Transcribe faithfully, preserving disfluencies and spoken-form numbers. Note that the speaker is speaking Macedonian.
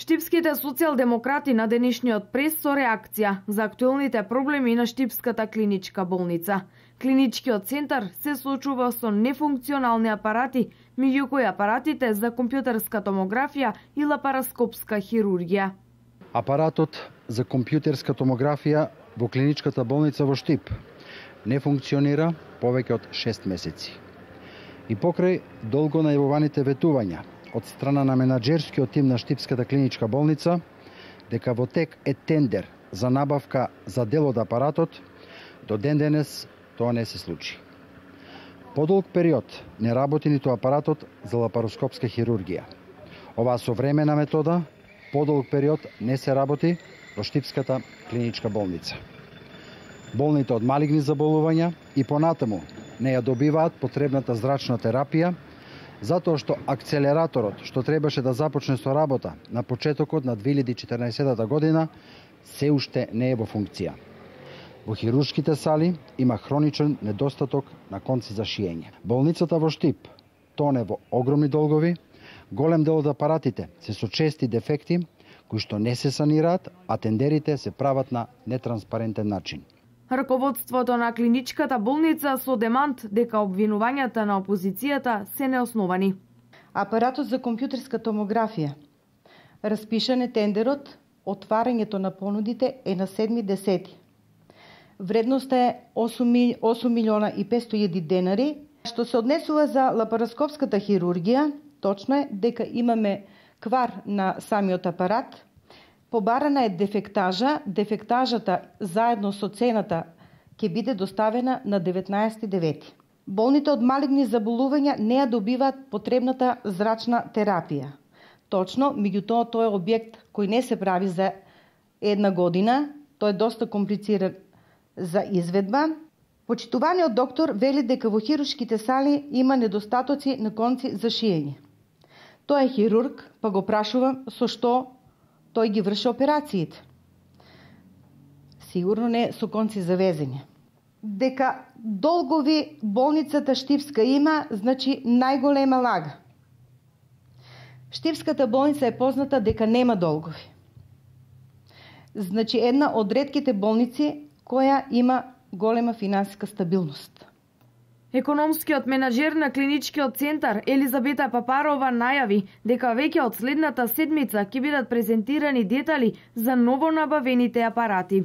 Штипските социјалдемократи на денешниот прес со реакција за актуелните проблеми на Штипската клиничка болница. Клиничкиот центар се соочува со нефункционални апарати, меѓу кои апаратите за компјутерска томографија и лапароскопска хирургија. Апаратот за компјутерска томографија во клиничката болница во Штип не функционира повеќе од шест месеци. И покрај долго најавуваните ветувања од страна на менаџерскиот тим на Штипската клиничка болница дека во тек е тендер за набавка за дел од апаратот, до ден денес тоа не се случи. Подолг период не работи ниту апаратот за лапароскопска хирургија. Оваа современа метода подолг период не се работи во Штипската клиничка болница. Болните од малигни заболувања и понатаму не ја добиваат потребната зрачна терапија, затоа што акцелераторот што требаше да започне со работа на почетокот на две илјади и четрнаесетта година се уште не е во функција. Во хируршките сали има хроничен недостаток на конци за шиење. Болницата во Штип тоне во огромни долгови, голем дел од апаратите се со чести дефекти кои што не се санираат, а тендерите се прават на нетранспарентен начин. Раководството на клиничката болница со демант дека обвинувањата на опозицијата се неосновани. Апаратот за компјутерска томографија. Распишан е тендерот, отварањето на понудите е на седми десети. Вредноста е осум милиона и петстотини илјади денари. Што се однесува за лапароскопската хирургија, точно е дека имаме квар на самиот апарат. Побарана е дефектажа. Дефектажата заедно со цената ќе биде доставена на деветнаесети девети. Болните од малигни заболувања не ја добиваат потребната зрачна терапија. Точно, меѓутоа тој е објект кој не се прави за една година. Тој е доста комплициран за изведба. Почитуваниот доктор вели дека во хируршките сали има недостатоци на конци за шиење. Тој е хирург, па го прашувам со што тој ги врши операциите. Сигурно не со конци за везење. Дека долгови болницата Штипска има, значи најголема лага. Штипската болница е позната дека нема долгови. Значи една од ретките болници која има голема финансиска стабилност. Економскиот менаџер на клиничкиот центар Елизабета Папарова најави дека веќе од следната седмица ќе бидат презентирани детали за новонабавените апарати.